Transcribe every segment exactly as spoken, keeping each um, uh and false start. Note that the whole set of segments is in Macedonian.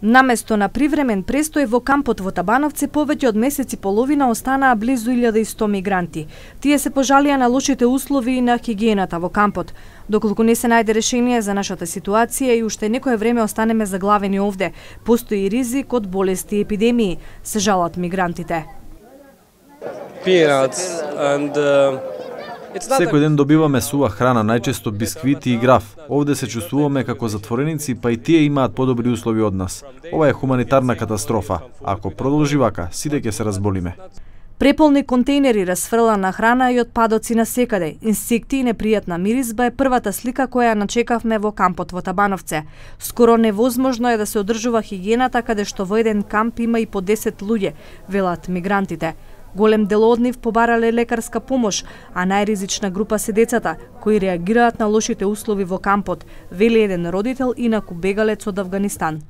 Наместо на привремен престој во кампот во Табановце, повеќе од месец и половина останаа близу илјада и сто мигранти. Тие се пожалија на лошите услови и на хигиената во кампот. Доколку не се најде решение за нашата ситуација и уште некое време останеме заглавени овде, постои ризик од болести и епидемии, се жалат мигрантите. Peanuts and uh... Секој ден добиваме сува храна, најчесто бисквити и граф. Овде се чувствуваме како затвореници, па и тие имаат подобри услови од нас. Ова е хуманитарна катастрофа. Ако продолжи вака, сите ќе се разболиме. Преполни контейнери, расфрлана храна и отпадоци на секаде, инсекти и непријатна миризба е првата слика која начекавме во кампот во Табановце. Скоро невозможно е да се одржува хигиената каде што во еден камп има и по десет луѓе, велат мигрантите. Голем дел од нив побарале лекарска помош, а најризична група се децата, кои реагираат на лошите услови во кампот, вели еден родител инаку бегалец од Авганистан.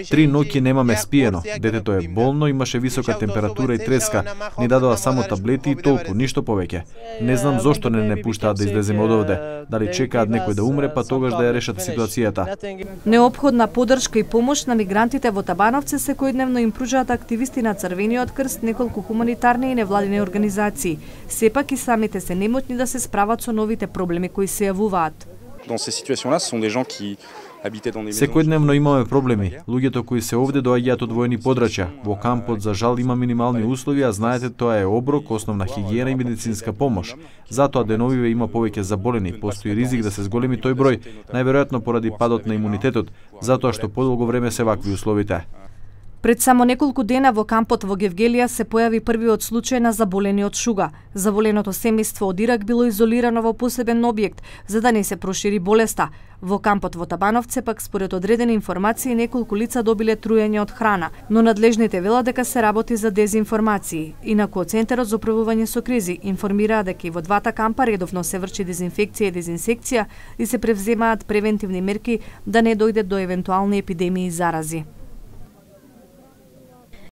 Три ноќи немаме спиено. Детето е болно, имаше висока температура и треска. Ни дадоа само таблети и толку, ништо повеќе. Не знам зошто не не пуштаат да излеземе од овде. Дали чекаат некој да умре, па тогаш да ја решат ситуацијата. Неопходна поддршка и помош на мигрантите во Табановце секојдневно им пружаат активисти на Црвениот крст, неколку хуманитарни и невладини организации. Сепак и самите се немотни да се справат со новите проблеми кои се јавуваат. Секојдневно имаме проблеми. Луѓето кои се овде доаѓаат од војни подрачја. Во кампот за жал има минимални услови, а знаете тоа е оброк, основна хигиена и медицинска помош. Затоа деновиве има повеќе заболени, постои ризик да се зголеми тој број, најверојатно поради падот на имунитетот, затоа што подолго време се вакви условите. Пред само неколку дена во кампот во Гевгелија се појави првиот случај на заболени од шуга. Заболеното семејство од Ирак било изолирано во посебен објект за да не се прошири болеста. Во кампот во Табановце пак според одредени информации неколку лица добиле труење од храна, но надлежните велат дека се работи за дезинформации. Инаку од Центарот за управување со кризи информираа дека и во двата кампа редовно се врши дезинфекција и дезинсекција и се превземаат превентивни мерки да не дојде до евентуални епидемии и зарази.